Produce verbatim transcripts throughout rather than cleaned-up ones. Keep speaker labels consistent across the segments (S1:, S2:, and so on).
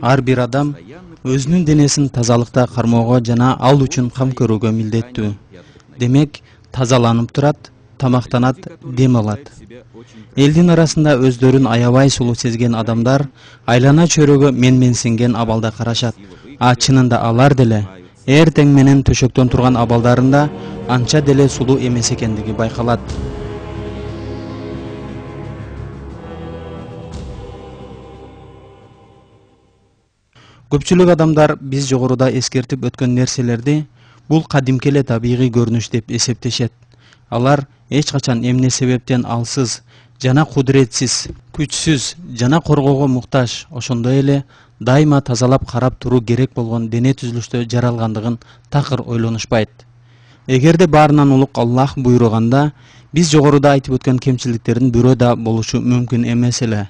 S1: Ар бир адам өзүнүн денесин тазалыкта кармоого жана ал үчүн кам көрүүгө милдеттүү. Демек, тазаланып турат, тамактанат, дем алат. Элдин арасында өздөрүн аябай сулуу сезген адамдар айлана чөйрөгө менменсинген абалда карашат. А чынында алар деле эртең менен төшөктөн турган абалдарында анча деле сулуу эмес экендиги байкалат. Көпчүлүк адамдар биз жогоруда эскертип өткөн нерселерди бул кадимки эле табигый көрүнүш деп эсептешет. Алар эч качан эмне себептен алсыз жана кудуретсиз, күчсүз жана коргоого муктаж, ошондой эле дайыма тазалап карап туруу керек болгон дене түзүлүштө жаралгандыгын такыр ойлонушпайт. Эгерде баарынан улук Аллах буйруганда, биз жогоруда айтып өткөн кемчиликтердин бирөө да болушу мүмкүн эмес эле.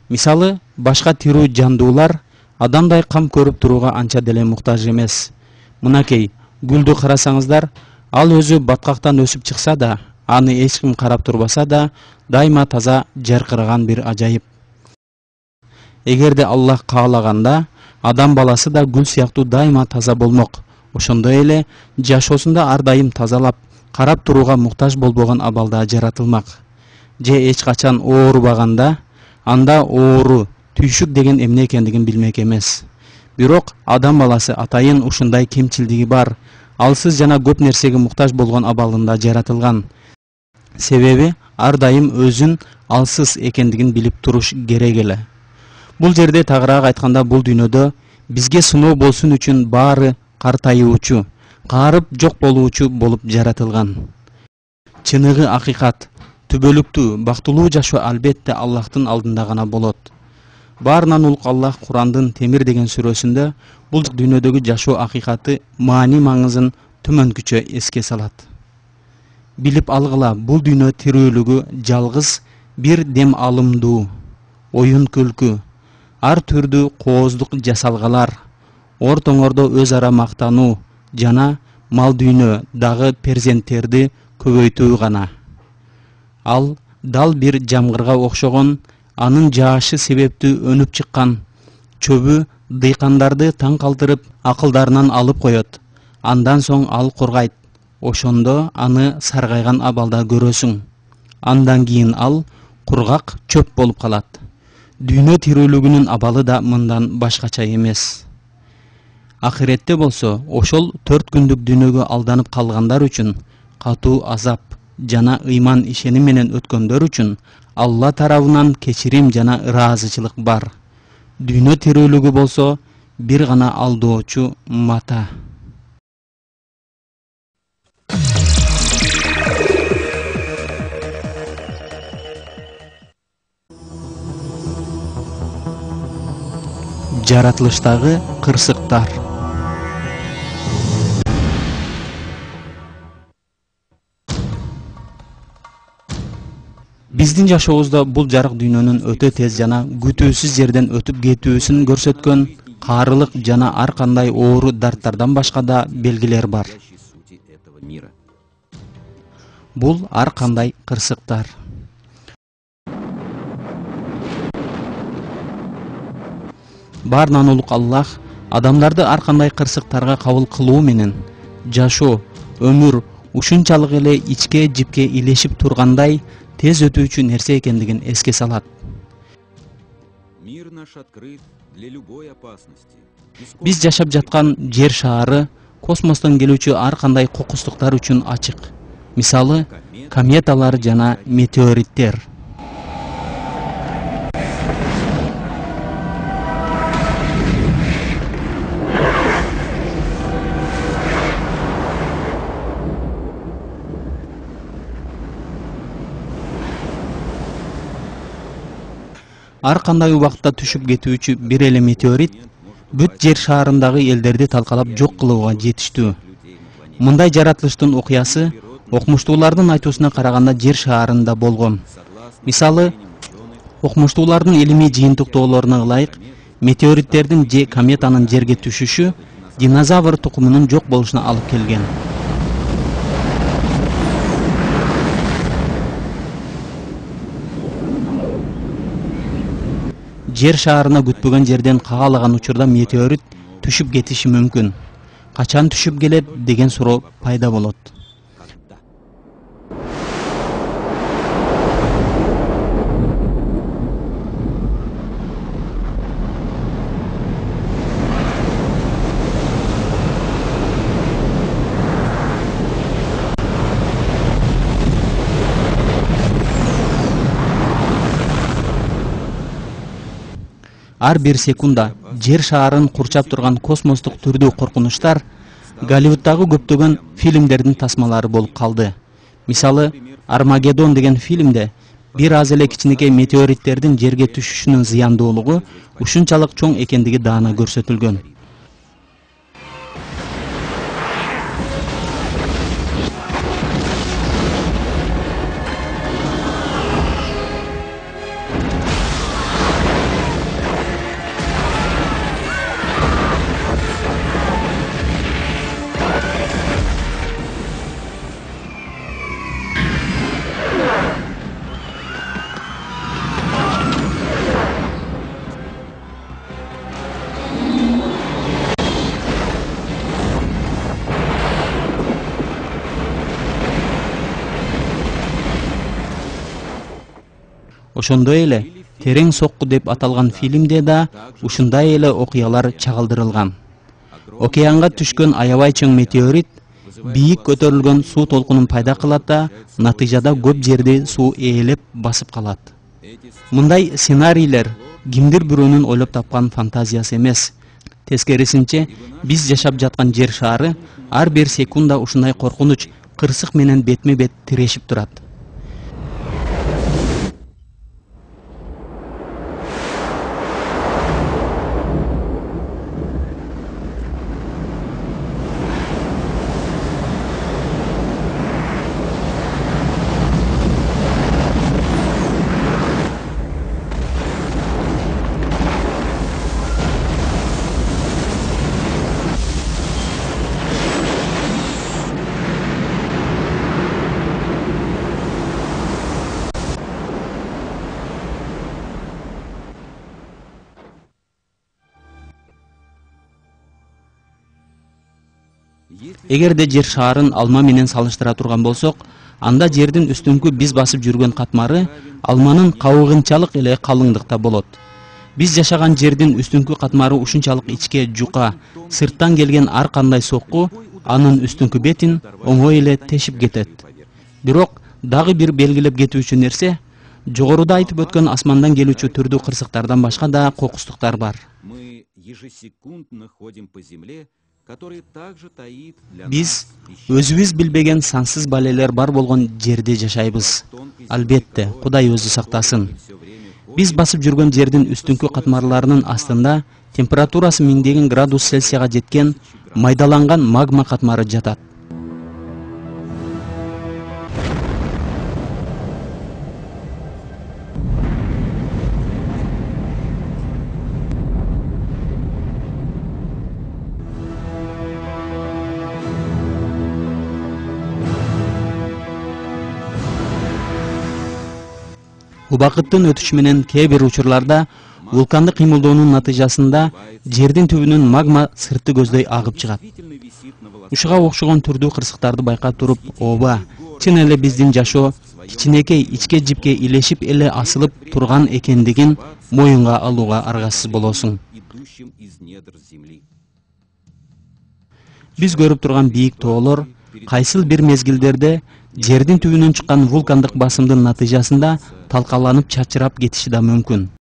S1: Мисалы, башка тирүү жандуулар адамдай кам көрүп турууга анча деле муктаж эмес. Мынакей, гүлдү карасаңыздар, ал өзү баткактан өсүп чыкса да, аны эч ким карап турбаса да, дайыма таза жаркыраган бир ажайып. Эгерде Аллах каалаганда, адам баласы да гүл сыяктуу дайыма таза болмок. Ошондой эле жашоосунда ар дайым тазалап, карап турууга муктаж болбогон абалда жаратылмак. Же эч качан оорубаганда, анда оору, түйшүк деген эмне экендигин билмек эмес. Бирок адам баласы атайын ушундай кемчилдиги бар, алсыз жана көп нерсеге муктаж болгон абалында жаратылган. Себеби ар дайым өзүн алсыз экендигин билип туруш керек эле. Бул жерде тагыраак айтканда, бул дүйнөдө бизге сыноо болсун үчүн баары картайуучу, каарып жок болуучу болуп жаратылган. Чыныгы акыйкат, түбөлүктүү, бактылуу жашоо албетте Аллахтын алдында гана болот. Баарынан улук Аллах Курандын Темир деген сүрөсүндө бул дүйнөдөгү жашоо акыйкаты маани маңызын төмөнкүчө эске салат. Билип алгыла, бул дүйнө тирүүлүгү жалгыз бир дем алымдуу, оюн күлкү, ар түрдүү кооздук жасалгалар, ортоңордо өз ара мактануу жана мал дүйнө дагы перзенттерди көбөйтүү гана. Ал дал бир жамгырга окшогон, анын жаашы себептүү өнүп чыккан чөбү дыйкандарды таң калтырып, акылдарынан алып коет. Андан соң ал кургайт. Ошондо аны саргайган абалда көрөсүң. Андан кийин ал кургак чөп болуп калат. Дүйнө тирүүлүгүнүн абалы да мындан башкача эмес. Акыретте болсо, ошол төрт күндүк дүйнөгө алданып калгандар үчүн катуу азап жана ыйман ишеним менен өткөндөр үчүн Алла тарабынан кечирим жана ыраазычылык бар. Дүйнө тирүүлүгү болсо бир гана алдоочу мата. Жаратылыштагы кырсыктар. Биздин жашообузда бул жарык дүйнөнүн өтө тез жана күтүүсүз жерден өтүп кетүүсүн көрсөткөн каарылык жана ар кандай оору дарттардан башка да белгилер бар. Бул ар кандай кырсыктар. Баарынан улук Аллах адамдарды ар кандай кырсыктарга кабыл кылуу менен жашоо, өмүр ушунчалык эле ичке жипке илешип тургандай тез өтүүчү нерсе экендигин эске салат. Биз жашап жаткан жер шаары космостон келүүчү ар кандай кокустуктар үчүн ачык. Мисалы, кометалар жана метеориттер. Ар кандай убакытта түшүп кетүүчү бир эле метеорит бүт жер шаарындагы элдерди талкалап жок кылууга жетиштүү. Мындай жаратылыштын окуясы окумуштуулардын айтуусуна караганда жер шаарында болгон. Мисалы, окумуштуулардын илимий жыйынтыктоолоруна ылайык, метеориттердин же кометанын жерге түшүшү динозавр тукумунун жок болушуна алып келген. жер шаарына күтпөгөн жерден каалаган учурда метеорит түшүп кетиши мүмкүн. Качан түшүп келет деген суроо пайда болот. Ар бир секунда жер шаарын курчап турган космостук түрдүү коркунучтар Голливуддагы көптөгөн фильмдердин тасмалары болуп калды. Мисалы, Армагеддон деген фильмде бир аз эле кичинекей метеориттердин жерге түшүшүнүн зыяндуулугу ушунчалык чоң экендиги даана көрсөтүлгөн. Ошондой эле Терең сокку деп аталган фильмде да ушундай эле окуялар чагылдырылган. Океанга түшкөн аябай чоң метеорит бийик көтөрүлгөн суу толкунун пайда кылат да, натыйжада көп жерди суу ээлеп басып калат. Мындай сценарийлер кимдир бирөөнүн ойлоп тапкан фантазиясы эмес. Тескерисинче, биз жашап жаткан жер шаары ар бир секунда ушундай коркунуч, кырсык менен бетме-бет тирешип турат. Эгерде жер шаарын алма менен салыштыра турган болсок, анда жердин үстүңкү биз басып жүргөн катмары алманын кабыгынчалык эле калыңдыкта болот. Биз жашаган жердин үстүңкү катмары ушунчалык ичке жука, сырттан келген ар кандай сокку анын үстүңкү бетин оңой эле тешип кетет. Бирок дагы бир белгилеп кетүүчү нерсе, жогоруда айтып өткөн асмандан келүүчү түрдүү кырсыктардан башка да кокустуктар бар. Биз өзүбүз билбеген сансыз балелер бар болгон жерде жашайбыз. Албетте, Кудай өзү сактасын. Биз басып жүргөн жердин үстүңкү катмарларынын астында температурасы миңдеген градус Цельсияга жеткен майдаланган магма катмары жатат. Убакыттын өтүшү менен кээ бир учурларда вулкандык кыймылдоонун натыйжасында жердин түбүнөн магма сыртты көздөй агып чыгат. Ушуга окшогон түрдүү кырсыктарды байкап туруп, ооба, чын эле биздин жашоо кичинекей ичке жипке илешип эле асылып турган экендигин моюнга алууга аргасыз болосуң. Биз көрүп турган бийик тоолор кайсыл бир мезгилдерде жердин түбүнөн чыккан вулкандык басымдын натыйжасында талкаланып чачырап кетиши да мүмкүн.